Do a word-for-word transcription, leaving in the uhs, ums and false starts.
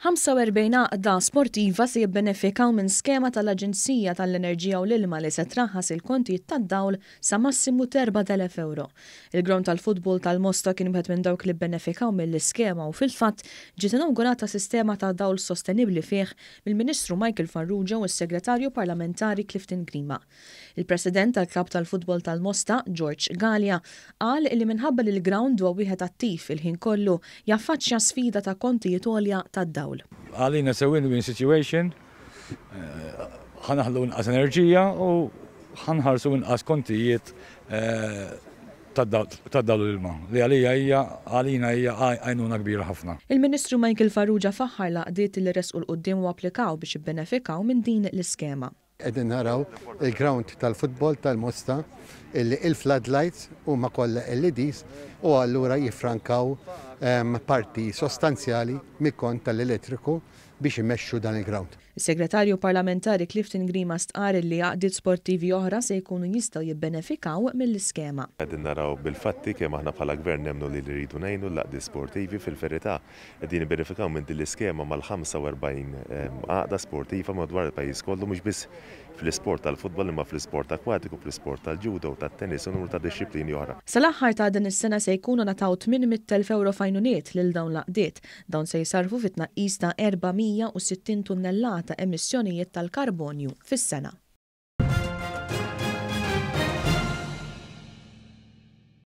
ħamsa u erbgħin għaqda sportiva se jibbenefikaw minn skema tal-Aġenzija tal-Enerġija u l-Ilma li se traħħas il-kontijiet tad-dawl sa massimu erbat elef euro. Il-ground tal-futbol tal-Mosta kien wieħed minn dawk li bbenefikaw mill-iskema u fil-fatt ġiet inaugurata sistema ta' dawl sostenibli fih mill-Ministru Michael Farrugia u s-Segretarju Parlamentari Clifton Grima. Il-President tal-Klabb tal-Futbol tal-Mosta, George Gallia, qal li minħabba li l-ground huwa wieħed attiv il-ħin kollu, jaffaċċja sfida ta' kontijiet għolja tad-dawl. Għalina se win-win situation, eh, ħa naħlu inqas enerġija u ħa nħallsu inqas kontijiet eh, tad-dawl l-ilma. Li għalija hija għalina hija għajnuna kbira ħafna. Il-Ministru Michael Farrugia faħħar l-għaqdiet li resqu 'l quddiem u applikaw biex jibbenefikaw minn din l-iskema. Qegħdin naraw il-ground tal-futbol tal-Mosta illi il-floodlights huma kollha L E Ds u allura jiffrankaw parti sostanzjali mill-kont tal-elettriku biex imexxu dan il-ground. Is-Segretarju Parlamentari Clifton Grima stqar li għaqdiet sportivi oħra se jkunu jistgħu jibbenefikaw mill-iskema. Qegħdin naraw bil-fatti kemm aħna bħala gvern nemmnu li rridu ngħinu l-għaqdiet sportivi. Fil-verità, qegħdin jibbenefikaw minn din l-iskema mal-ħamsa u erbgħin għaqda sportiva madwar il-pajjiż kollu, mhux biss fl-isport tal-futbol imma fl-isport akwatiku, fl-isport tal-judo, tat-tennis u numru ta' dixxiplini oħra. Sal-aħħar ta' din is-sena se jkunu ngħataw tmien mitt elf euro f'għajnuniet lil dawn l-għaqdiet. Dawn se jisarfu fit-tnaqqis ta' erba' mija u sittin tunnellata emissjonijiet tal-karbonju fis-sena.